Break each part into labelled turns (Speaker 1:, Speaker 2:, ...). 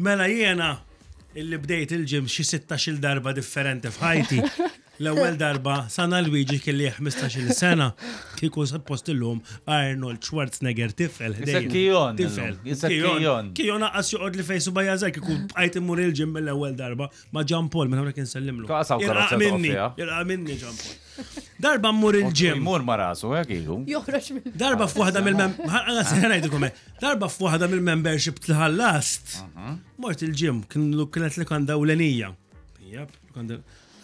Speaker 1: Mela jiena illi bdejt il-gym xi 16-il darba differenti f'ħajti. L-ewwel darba Sana Luigi kelli 15-il sena kieku suppost illum Arnold Schwarzenegger tifel.
Speaker 2: Issa Kion.
Speaker 1: Tifel.
Speaker 2: Issa Kion.
Speaker 1: Kion aqqas joqgħod li fejn subajja żgħir kieku bqajt immur il-gym mill-ewwel darba ma' Jean Paul minn hawnhekk insellimlu.
Speaker 2: Kaqsaw
Speaker 1: Irqaq
Speaker 2: karozza
Speaker 1: minni,
Speaker 2: toqgħod fiha.
Speaker 1: irqaq minni Jean Paul. Darba mmur il-gym.
Speaker 2: Jmur ma rasu, hekk ilu.
Speaker 3: Joħroġ minn.
Speaker 1: Darba f'waħda mill-mem... ngħidilkom hekk. Darba f'waħda mill-membership li ħallast. Mort il-gym, kien kienet lukanda ewlenija. Jep, lukanda.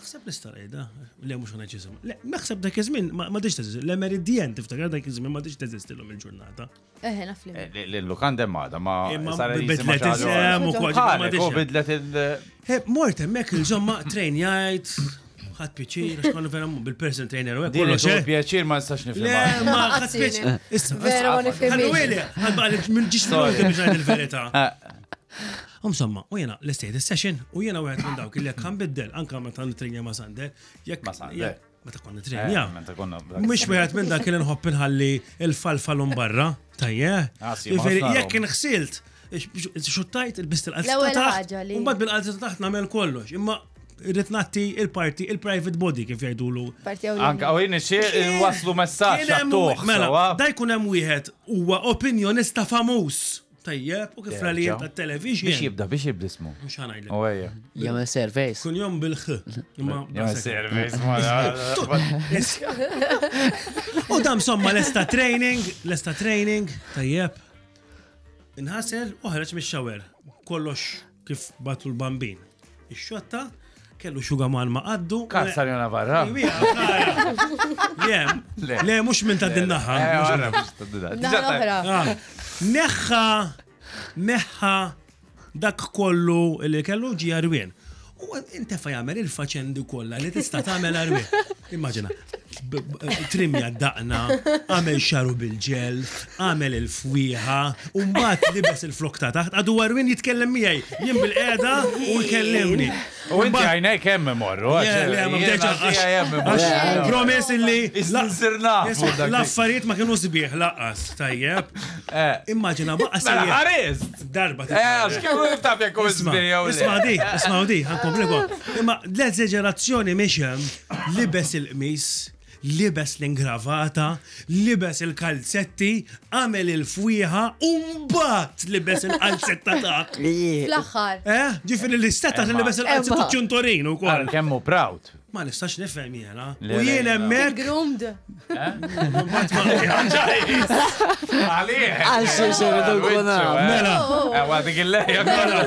Speaker 1: Naħseb nista' ngħidha. Le mhux ngħid x'isem. Le, naħseb dak iż-żmien ma m'għadix teżisti. Le Meridian tiftakar dak iż-żmien m'għadix teżisti llum il-ġurnata.
Speaker 3: Eħe, naf li.
Speaker 2: Eh, L-lukanda għadha ma
Speaker 1: Imma
Speaker 2: sar jisimha
Speaker 1: bidlet
Speaker 2: xi ħaġa
Speaker 1: isem u
Speaker 2: oħra.
Speaker 1: kważi ma
Speaker 2: Ħalek,
Speaker 1: m'għadix
Speaker 2: u
Speaker 1: hemm.
Speaker 2: bidlet il-
Speaker 1: He, mort hemmhekk il-ġomma train jgħid, ħadd pjaċir, għax konna vera bil-person trainer u hekk
Speaker 2: Din
Speaker 1: kollox, eh.
Speaker 2: pjaċir ma nistax
Speaker 1: Le,
Speaker 2: nifhimha.
Speaker 1: ma ħadd pjaċir. Issa,
Speaker 3: Vera ma nifhimhiex.
Speaker 1: Ħallu għeli, ħadba li minn ġiex
Speaker 2: Sorry.
Speaker 1: biex ngħid il-verità. Insomma, u jena l-estate session u jena wieħed minn dawk li jekk ħanbiddel anka meta nitrenja ma' Sander, jekk
Speaker 2: Ma' Sander.
Speaker 1: jekk- Meta konna nitrenja.
Speaker 2: Eh, Meta konna.
Speaker 1: Mhux wieħed minn dak li nħobb inħalli il-falfal barra, tajje.
Speaker 2: Ah, sì, ma
Speaker 1: Jiġifieri,
Speaker 2: ħafna
Speaker 1: Jekk inħsilt, xuttajt il-bist il-qalza
Speaker 3: L-ewwel
Speaker 1: taħt,
Speaker 3: ħaġa li-
Speaker 1: u mbagħad bil-qalza taħt nagħmel kollox. Imma irrid nagħti il-parti, il-private body kif jgħidulu.
Speaker 3: Parti għaw.
Speaker 2: Anka u jien ixtieq waslu messaġġ
Speaker 1: Kien hemm-
Speaker 2: għattuħ.
Speaker 1: Mela,
Speaker 2: sewwa?
Speaker 1: da jkun hemm wieħed huwa opinjonista famuż. Tajjeb, u kif rali
Speaker 2: Terġa'.
Speaker 1: ta' television.
Speaker 2: Biex jibda, biex jibda ismu.
Speaker 1: Mhux ħanajdlek.
Speaker 2: U ejja.
Speaker 4: Jagħmel surveys.
Speaker 1: Kun jom bil-ħ. Imma
Speaker 2: Jagħmel service ma.
Speaker 1: U dam somma lesta training, lesta training, tajjeb. Inħasel u ħareġ mix-shower. Kollox kif batu l-bambin. Ix-xotta kellu xugaman ma qaddu.
Speaker 2: Karza li Navarra.
Speaker 1: Le, le, mux minn ta' din naħa.
Speaker 2: Eh,
Speaker 1: mhux-
Speaker 2: għara, mhux ta' din naħa.
Speaker 3: Naħa l-oħra.
Speaker 1: Ah, Neħħa, neħħa dak kollu li kellu ġi għarwien. U intefa jagħmel il-faċendi kollha li tista' tagħmel għarwien. Immaġina, b- b- trimja daqna, għamel xaru bil-ġel, għamel il-fwieħa, u mbagħad libes il-flok ta' taħt, għadu għarwien jitkellem miegħi, jien bil-qiegħda u jkellimni.
Speaker 2: U inti għajnejk hemm imorru.
Speaker 1: Le, le, ma bdejtx għax- għax Promise illi
Speaker 2: Issa nsir nafu
Speaker 1: Isma'
Speaker 2: dak li-
Speaker 1: L-affarijiet ma kienu sbieħ laqqas, tajjeb.
Speaker 2: Eh.
Speaker 1: Immaġina baqa'
Speaker 2: Mela
Speaker 1: sejjer
Speaker 2: ħarist!
Speaker 1: darba.
Speaker 2: Eh, għax kemm taf jekk hu
Speaker 1: Isma'
Speaker 2: sbieħ jew le.
Speaker 1: Isma' di, isma' di, ħankompliku. Imma l-eżagerazzjoni mhix hemm libes il-qmis, libes l-ingravata, libes il-kalzetti, għamel il-fwieħa u mbagħad libes il-kalzetta taħt.
Speaker 3: Fl-aħħar.
Speaker 1: Eh, ġifieri l-istetta li libes il-kalzetta
Speaker 4: Emma.
Speaker 1: ċuntorin ukoll.
Speaker 2: Għal kemm hu proud.
Speaker 1: Ma nistax nifhem jiena.
Speaker 2: Le,
Speaker 1: U
Speaker 2: le,
Speaker 1: jien
Speaker 2: le.
Speaker 1: hemmhekk
Speaker 3: Groomed.
Speaker 2: Għalih!
Speaker 4: Għal xi xirridu nkun naf.
Speaker 1: Mela.
Speaker 2: Ewa dik il-lejja kollha.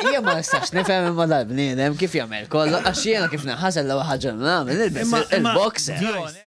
Speaker 4: Jien ma nistax nifhem imma dal-bniedem kif jagħmel kollu għax jiena kif naħasel l-ewwel ħaġa li nagħmel nilbes
Speaker 1: Imma- imma-
Speaker 4: il-boxer.
Speaker 1: Guys.